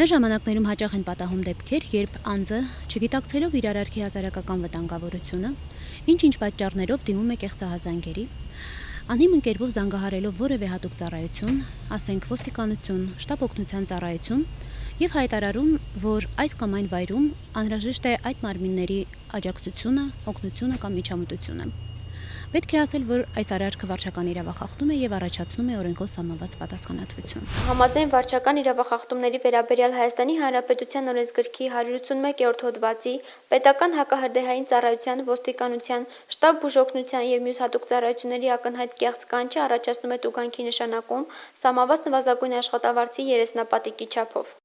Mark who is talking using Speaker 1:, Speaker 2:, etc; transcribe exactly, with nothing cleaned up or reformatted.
Speaker 1: Այս ժամանակներում հաճախ են պատահում դեպքեր, երբ անձը, չգիտակցելով իր արարքի հասարակական վտանգավորությունը, ինչ-ինչ պատճառներով դիմում է կեղծահազանգերի, անհիմն կերպով զանգահարելով որևէ հատուկ ծառայություն, ասենք ոստիկանություն, շտապ օգնության ծառայություն, եւ հայտարարում, որ այս կամ այն վայրում անհրաժեշտ է այդ մարմինների աջակցությունը, օգնությունը կամ միջամտությունը։ Պետք է ասել, որ այս արարքը վարչական իրավախախտում է եւ առաջացնում է օրենքով սահմանված պատասխանատվություն։
Speaker 2: Համաձայն վարչական իրավախախտումների վերաբերյալ Հայաստանի Հանրապետության օրենսգրքի հարյուր ութսունմեկերորդ հոդվածի, պետական հակահրդեհային ծառայության, ոստիկանության, շտապ բուժօգնության եւ մյուս հատուկ ծառայությունների ակնհայտ կեղծ կանչը առաջացնում է տուգանքի նշանակում, սահմանված նվազագույն աշխատավարձի երեսնապատիկի չափով։